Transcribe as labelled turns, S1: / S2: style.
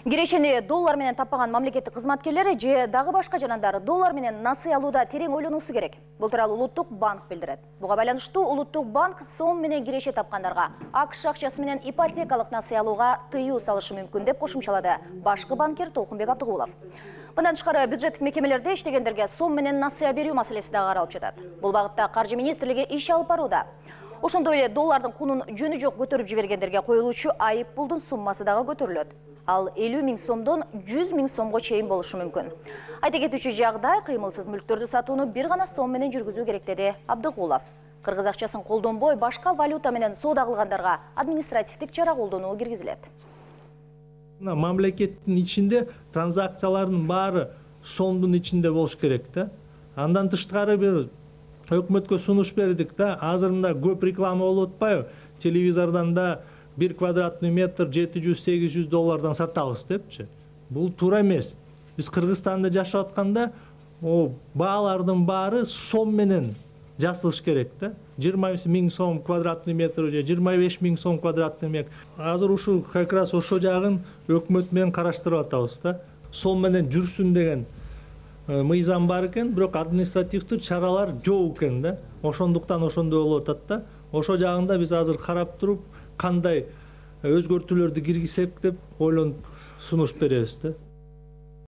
S1: Кирешени доллар менен таппаган мамлекеттик кызматкерлер же дагы башка жанагындар доллар менен насыя алууда терең ойлонуусу керек. Бул тууралуу Улуттук банк билдирет. Буга байланыштуу Улуттук банк сом менен киреше тапкандарга АКШ акчасы менен ипотекалык насыя алууга тыюу салышы мүмкүн деп кошумчалады башкы банкир Толкунбек Абдыгулов. Мындан тышкары бюджеттик мекемелерде иштегендерге сом менен насыя берүү маселеси дагы каралып жатат. Бул багытта Каржы министрлиги иш алып барууда. Ошондой эле доллардын кунун жөнү жок көтөрүп жибергендерге коюлуучу айып пулдун суммасы дагы көтөрүлөт. Ал 50 000 сомдон 100 000 сомго чейин болушу мүмкүн. Айта кетүүчү жагдай кыймылсыз мүлктөрдү сатууну бир гана сом менен жүргүзүү керек деди Абдыгулов. Кыргыз акчасын колдонбой башка валюта менен соода кылгандарга административдик чара колдонуу киргизилет.
S2: Мамлекеттин ичинде транзакциялардын баары сомдун ичинде болуш керек да. Андан тышкары бир өкмөткө сунуш бердик да. Азыр мында көп реклама болуп атпайбы? Телевизордон да 1 квадратный метр 700-800 доллардан сатабыз депчи. Бул туура эмес. Биз Кыргызстанда жашап атканда баалардын баары сом менен жасалыш керек да. 20 000 сом квадратный метр же 25 000 сом квадратный метр. Азыр ушул как раз ошо жагын өкмөт менен караштырып атабыз да. Сом менен жүрсүн деген мыйзам бар экен, бирок административдик чаралар жок экен да. Ошондуктан ошондой болуп атат да. Ошо жагында биз азыр карап туруп кандай өзгөртүүлөрдү киргизсек деп ойлонуп сунуш беребиз да.